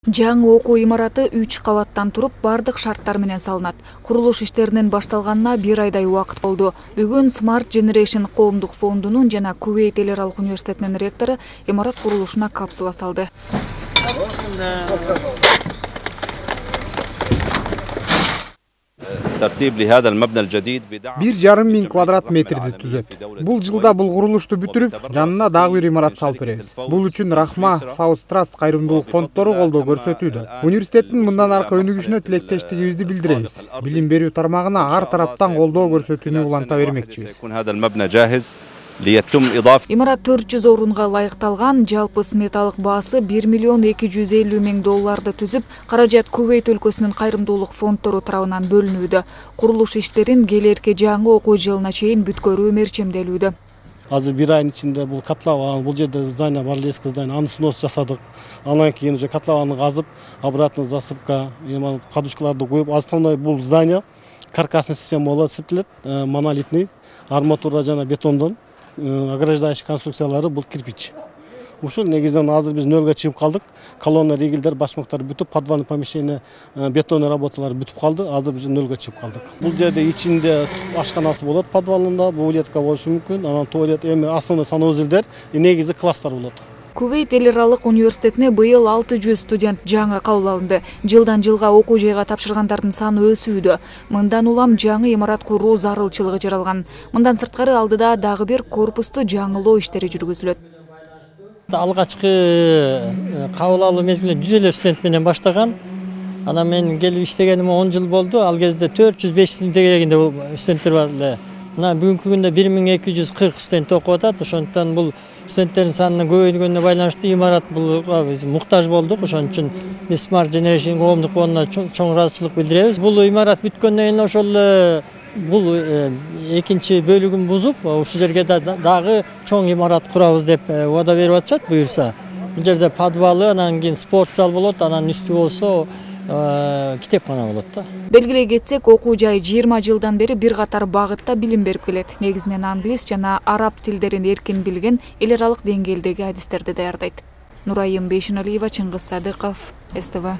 Жаңы окуу имараты 3 кабаттан туруп, бардык шарттар менен салынат. Курулуш иштеринин башталганына 1 айдай убакыт болду. Бүгүн Smart Generation коомдук фондунун жана Кувейт эл аралык университетинин ректору имарат курулушуна капсула салды. Бир жарым миң квадрат метрди түзөт. Бул жылда бул курулушту бүтүрүп, жанына дагы бир имарат салып беребиз. Бул үчүн Рахма, Фауст Траст кайрымдуулук фонддору колдоо көрсөтүүдө. Университеттин мындан аркы өнүгүшүнө тилектештигибизди билдиребиз. Билим берүү тармагына ар тараптан колдоо көрсөтүүнү уланта бермекчибиз. Имарат 400 орунга ылайыкталган, жалпы сметалык баасы $1 миллион 250 000 долларды түзүп, каражат Кувейт өлкөсүнүн кайрымдуулук фонддору тарабынан бөлүнүүдө. Курулуш иштерин келерки жаңы окуу жылына чейин бүткөрүү мерчемделүүдө. Азыр 1 айдын ичинде бул котлован, бул жерде здание бар, эски здание, аны снос жасадык. Андан кийин уже котлованды казып, обратно засыпка, кадушкаларды коюп, основной бул здание каркасный система болот, септелет, монолитный, арматура жана бетондон. Ограждающий конструкциялары бул кирпич. Ушул негизден азыр биз нөлгө чыгып калдык. Колонна, ригелдер, башмактар бүтүп, подвальный помещение, бетонный работалар бүтүп калды. Азыр биз нөлгө чыгып калдык. Бул жерде ичинде ашканасы болот, подвалында, буулетка болушу мүмкүн. Анан туалет, эми основной санузелдер, негизи класстар болот. Кувейт эл аралык университетине быйыл 600 студент жаңы кабыл алынды. Жылдан жылга окуу жайга тапшыргандардын саны өсүүдө. Мындан улам жаңы имарат куруу зарылчылыгы жаралган. Мындан сырткары алдыда дагы бир корпусту жаңылоо иштери жүргүзүлөт. Алгачкы кабыл алуу мезгилинде 100 эле студент менен баштаган. Анан мен келип иштегениме 10 жыл болду. Ал кезде 400-500 студент дегенде студенттер бар эле. Мына бүгүнкү күндө 1240 студент окуп атат. Ошондуктан бул студенттердин санынын көбөйгөнүнө байланыштуу имарат булга биз муктаж болдук. Ошон үчүн биз Smart Generation коомдук фондуна чоң ыраазычылык билдиребиз. Бул имарат бүткөндөн кийин ошол бул экинчи бөлүгүн бузуп, ушул жерге дагы чоң имарат курабыз деп убада берип атышат буюрса. Бул жерде подвалы, анан кийин спорт зал болот, анан үстү болсо китепкана болот да. Белгилей кетсек, окуу жай 20 жылдан бери бир катар багытта билим берип келет. Негизинен англис жана араб тилдерин эркин билген, эл аралык деңгээлдеги адистерди даярдайт. Нурайым Бейшеналиева, Чыңгыз Садыков, СТВ.